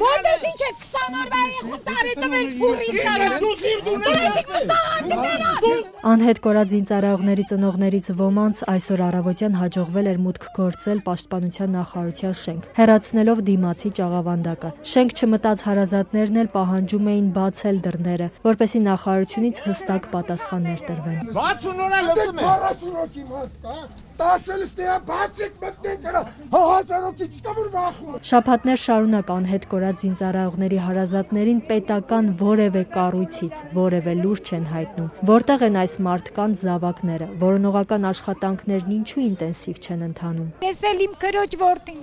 Որտես ինչ է 20 օրվա երեխուն տարի տվել փուրից Անհետ կորած զինծառայողների ծնողներից ոմանց այսօր առավոտյան հաջողվել էր մուտք գործել Պաշտպանության նախարարության շենք, հեռացնելով դիմացի ճաղավանդակը։ Շենք չմտած հարազատներն էլ պահանջում էին բացել դռները, որպեսզի նախարարությունից հստակ պատասխաններ տրվեն։ 60 օր լսում եմ 40 հոգի մարդ կա, 10-ը ստեա բացիկ մտնեն կրա, 1000 հոգի չկա որ վախում։ Շաբաթներ շարունակ անհետ կորած զինծառայողների հարազատներին պետական որևէ կառույցից որևէ լուր չեն հայտնում։ Որտեղ են այս մարդկանց զավակները, որոնողական աշխատանքներն ինչու ինտենսիվ չեն ընթանում։ Ես էլ իմ քրոջ որդին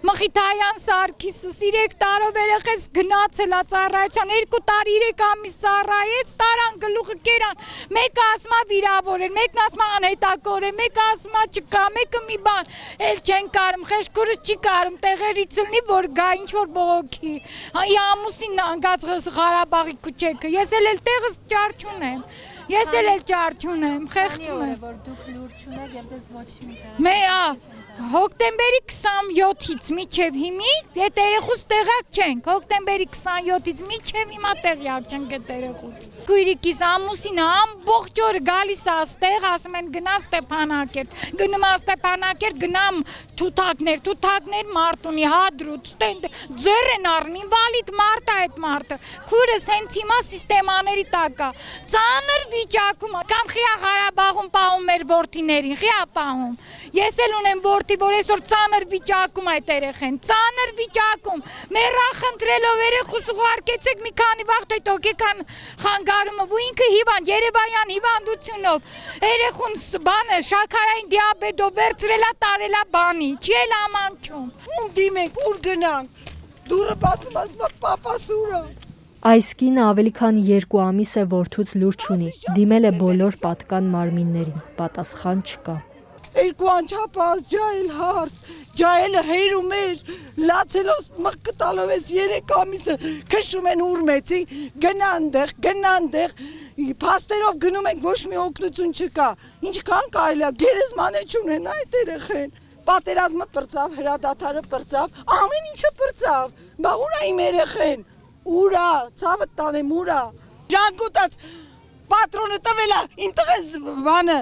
Մխիթարյան Սարգիսը 3 տարով երեխես գնացել է ծառայության 2 տարի 3 ամիս ծառայեց տարան գլուխը կերան մեկը ասма վիրավոր էր մեկն ասма անհետակոր է մեկը ասма չկա մեկը մի բան էլ չեն կարում խեշքուրս չի կարում տեղերից լնի որ գա ինչ որ բողոքի ամուսինն անգած Ղարաբաղի քուչեքը ես էլ տեղս ճար չունեմ Ես էլ ճար չունեմ խեղդում եմ որ դուք լուր չունեք եւ դες ոչ մի Մեա հոկտեմբերի 27-ից մինչև հիմի այդ երեխուց տեղակ չենք հոկտեմբերի 27-ից մինչև հիմա տեղյակ չենք այդ երեխուց Քույրիկիս ամուսինը ամբողջ օրը գալիս է այստեղ ասում են գնա Ստեփանակերտ գնում է Ստեփանակերտ գնամ թութակներ Մարտունի հադրուց ձեր են առնի ինվալիդ մարդ է այդ մարդը քույրս հենց հիմա սիստեմաների տակ է ծանր վիճակում կամ Ղիա Ղարաբաղում պահում մեր որդիներին Ղիա պահում ես էլ ունեմ որդի որ այսօր ծանր վիճակում այդ երեխեն ծանր վիճակում մեռախնդրելով երեխուս ուղարկեցեք մի քանի վաղ այդ օգեկան խանգարումը ու ինքը հիվանդ Երևանյան հիվանդությունով երեխուն բանը շաքարային դիաբետով վերցրելա տարելա բանի չի էլ ամանչում ում դիմենք ուր գնանք դուրը բացում ասում պապաս ուրա Այս կինը ավելի քան 2 ամիս է որդուց լուր չունի, դիմել է բոլոր պատկան մարմիններին, պատասխան չկա։ Երկու անչափած ջահել հարս, ջահելը հերում էր, լացելով մղկը տալով ես 3 ամիսը քշում են ուրմեցի, գնանդեղ, փաստերով գնում ենք ոչ մի օգնություն չկա, ինչքան կարելի է գերեզման է չունեն այդ երեխեն, պատերազմը պրծավ, հրադադարը պրծավ, ամեն ինչը պրծավ, բա ուր է իմ երեխեն, ուրա, ցավը տանեմ ուրա, ժանգուտած պատրոնը տվելա, իմ տղես բանը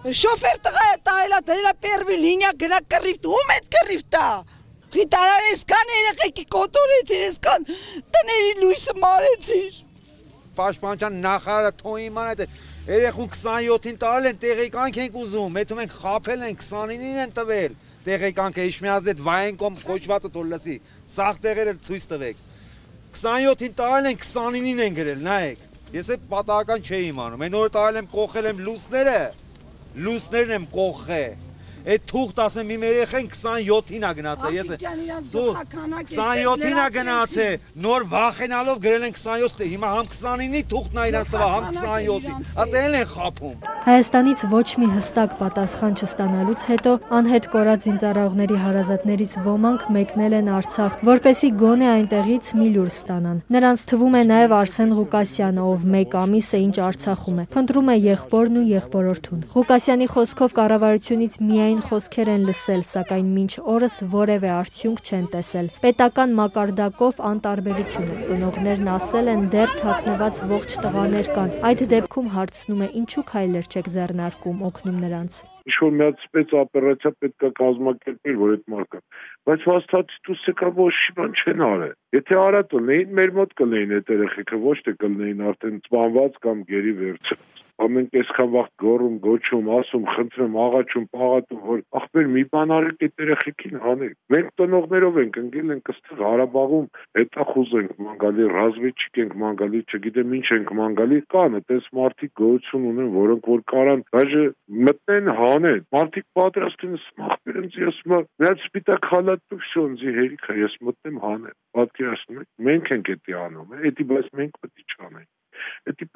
Շոֆեր տղա է տայելա դրելա պերվի լինյա գնա կռիվտ, ում էդ կռիվտա, խիտարար եսկան երեխեքի կոտորեցիր, եսկան տների լույսը մարեցիր։ Պաշտպանության նախարարը թոյիման այդ երեխուն 27-ին տարել են տեղեկանք ենք ուզում, հետում ենք խապել են 29-ին են տվել, տեղեկանքը իշմիազդ վայենկոմ կոչվածը թոր լսի, սաղ տեղերը ցույց տվեք, 27-ին տարել են 29-ին են գրել, նայեք, ես է պատահական չէի իմանում, այն օրը տարել եմ կողել եմ լուսներն եմ կողե, այդ թուղթ ասեմ իմ երեխեն 27-ին է գնացել, ես 27-ին է գնացել, նոր վախենալով գրել են 27, հիմա համ 29-ի թուղթն է իրանց տվա, համ 27-ի, ատել են խապում։ Հայաստանից ոչ մի հստակ պատասխան չստանալուց հետո անհետ կորած զինծառայողների հարազատներից ոմանք մեկնել են Արցախ, որպեսզի գոնե այնտեղից մի լուր ստանան։ Նրանց թվում է նաև Արսեն Ղուկասյանը, ով 1 ամիս է ինչ Արցախում է, փնտրում է եղբորն ու եղբորորդուն։ Ղուկասյանի խոսքով կառավարությունից միայն խոսքեր են լսել, սակայն մինչ օրս որևէ արդյունք չեն տեսել։ Պետական մակարդակով անտարբերություն է։ Ծնողներն ասել են դեռ թաքնված ողջ տղաներ կան։ Այդ դեպքում հարցնում է ինչու քայլեր չեք ձեռնարկում օգնում նրանց։ Ինչ-որ մի հատ սպեցօպերացիա պետք է կազմակերպել, որ այդ մարդը, բայց հաստատի դուսը կա ոչ մի բան չեն արել։ Եթե արա տնեին, մեր մոտ կլեին այդ երեխեքը, ոչ թե կլեին արդեն սպանված կամ գերի վերցրած։ Ամեն այսքան վաղ գոռում, գոչում, ասում, խնդրում, աղաչում, պաղատում, որ ախպեր մի բան արեք այդ երեխեքին հանեք։ Մենք տնողներով ենք ընկել ենք այստեղ Ղարաբաղում, հետախուզ ենք մանգալի, ռազմեջիկ ենք մանգալի, չգիտեմ ինչ ենք մանգալի, կան այդպես մարդիկ գոյություն ունեն, որոնք որ կարան դաժե մտնեն հանեն։ Մարդիկ պատրաստ են ախպեր ինձ ասում են, մի հատ սպիտակ խալատ տուր, ինձ հերիք է, ես մտնեմ հանեմ։ Պատկերացնում եք, մենք ենք դա անում, էդի բայց մենք պետք է չանենք։ Դա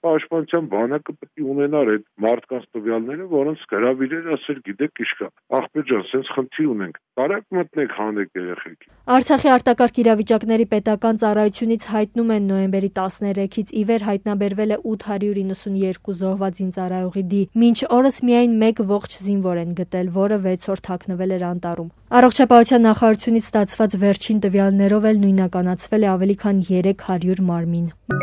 պաշտպանության բանակը պետք է ունենար այդ մարդկանց տվյալները, որոնց հրավիրել ասել, գիտեք, իշկա, աղբեր ջան, սենց խնդիր ունենք, կարակ մտնեք հանեք երեխեք։ Արցախի արտակարգ իրավիճակների պետական ծառայությունից հայտնում են նոյեմբերի 13-ից ի վեր հայտնաբերվել է 892 զոհված զինծառայողի մինչ օրս միայն 1 ողջ զինվոր են գտել, որը 6 օր թաքնվել էր անտառում։ Առողջապահության նախարարությունից ստացված վերջին տվյալներով էլ նույնականացվել է ավելի քան 300 մարմին։